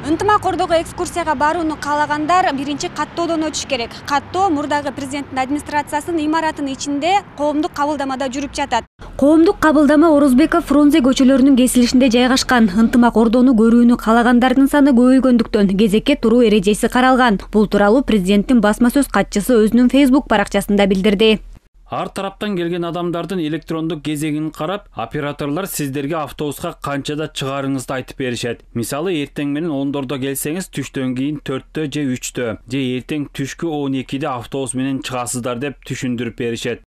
Ынтымак Ордого экскурсияга барууну каалагандар биринчи каттоодон өтүш керек. Каттоо мурдагы президенттин администрациясынын имаратынын ичинде коомдук кабылдамада жүрүп жатат. Коомдук кабылдама Орозбеков Фрунзе көчөлөрүнүн кесилишинде жайгашкан. Ынтымак Ордону көрүүнү каалагандардын саны көбөйгөндүктөн кезекке туруу эрежеси каралган. Бул тууралуу президенттин басма сөз катчысы өзүнүн Facebook баракчасында билдирди. Ар тараптан келген адамдардын электрондук кезегин карап, операторлор сиздерге автобуска канчада чыгарыңызды айтып беришет. Мисалы, эртең менен 10дордо келсеңиз, түштөн кийин 4тө же 3тө, же эртең түшкү 12де автобус менен чыгасыздар деп түшүндүрүп беришет.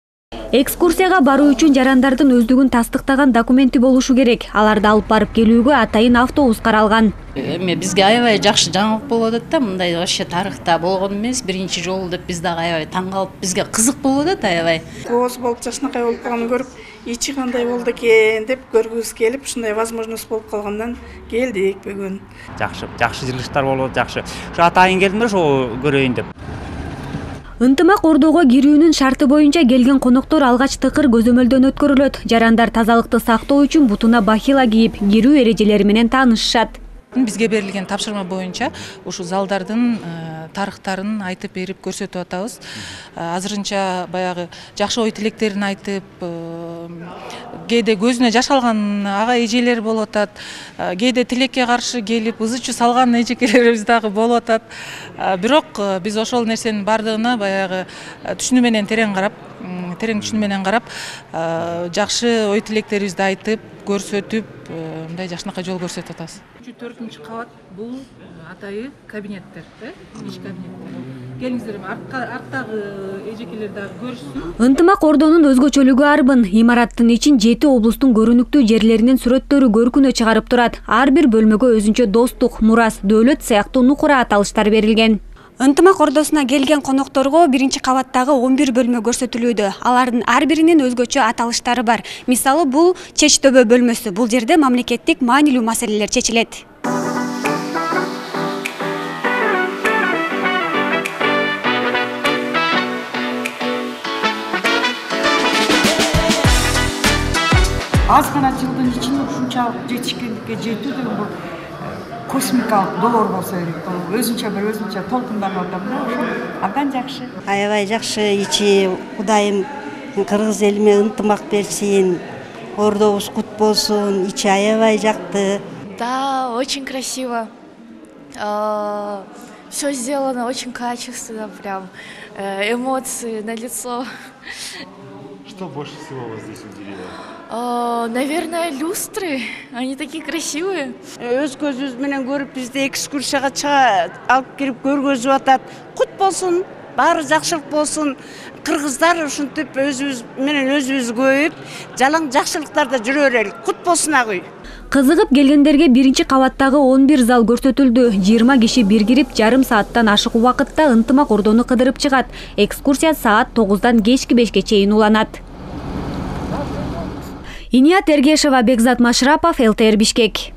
Экскурсияга баруу үчүн жарандардын өздүгүн тастыктаган документи болушу керек. Аларды алып барып келүүгө атайын автобус каралган. Бизге аябай жакшы жаңылык болуп атат да, мындай вообще тарыхта болгон эмес, биринчи жолу деп биз дагы аябай таң калып, бизге кызык болуп атат аябай. Кооз болуп жакшынакай болуп калганын көрүп, ичи кандай болду экен деп көргүбүз келип, ушундай возможность болуп калгандан келдик бүгүн. Жакшы жылыштар болуп, жакшы. Ушу атайын келдим да, ошо көрөйүн деп. Ынтымак Ордого кирүүнүн шарты боюнча келген коноктор алгач тыкыр көзөмөлдөн өткөрүлөт. Жарандар тазалыкты сактоо үчүн бутуна бахила кийип, кирүү эрежелери менен таанышышат. Бизге берилген тапшырма боюнча ушу залдардын тарыхтарын айтып берип көрсөтүп атабыз. Азырынча баягы жакшы ой тилектерин айтып, кээде көзүнө жаш алган ага эжелер болуп атат. Кээде тилекке каршы келип, ызы-чуу салган эжекелерибиз дагы болуп атат. Бирок биз ошол нерсенин бардыгына баягы түшүнүү менен терең түшүнүү менен карап, жакшы ой тилектерибизди айтып, көрсөтүп, мындай жакшынакай жол көрсөтүп атабыз. 4-кабат бул атайы кабинеттер, иш кабинеттер. Келиңиздер, арттагы эжекелер дагы көрүшсүн. Ынтымак Ордонун өзгөчөлүгү арбын. Имараттын ичин 7 облустун көрүнүктүү жерлеринин сүрөттөрү көркүнө чыгарып турат. Ар бир бөлмөгө өзүнчө достук, мурас, дөөлөт сыяктуу нукура аталыштар берилген. Ынтымак Ордосуна келген конокторго биринчи кабаттагы 11 бөлмө көрсөтүлүүдө. Алардын ар биринин өзгөчө аталыштары бар. Мисалы, бул чеч төбө бөлмөсү. Бул жерде мамлекеттик маанилүү маселелер чечилет. Аз гана жылдын ичинде ушунчалык жетишкендикке жетүү деген бул космикалык долоор болсо керек. Өзүнчө толкунданып атам да, ошо абдан жакшы. Аябай жакшы ичи, Кудайым кыргыз элиме ынтымак берсин, Ордобуз кут болсун, ичи аябай жакты. Да, очень красиво. Все сделано очень качественно, прям эмоции налицо. Что больше всего вас здесь удивило? Наверное, люстры. Они такие красивые. Өз көзүбүз менен көрүп, бизди экскурсияга чыга алып кирип көргөзүп атат. Кут болсун, баары жакшылык болсун. Кыргыздар ушинтип өзүбүз менен өзүбүз көбөйүп, жалаң жакшылыктарда жүрө берелик. Кут болсун агый. Кызыгып келгендерге биринчи кабаттагы 11 зал көрсөтүлдү. 20 киши бир кирип, жарым сааттан ашык убакытта Ынтымак Ордону кыдырып чыгат. Экскурсия саат 9-дан кечки 5-ке чейин уланат. Иният Эргешева, Бекзат Машрапов, ЛТР Бишкек.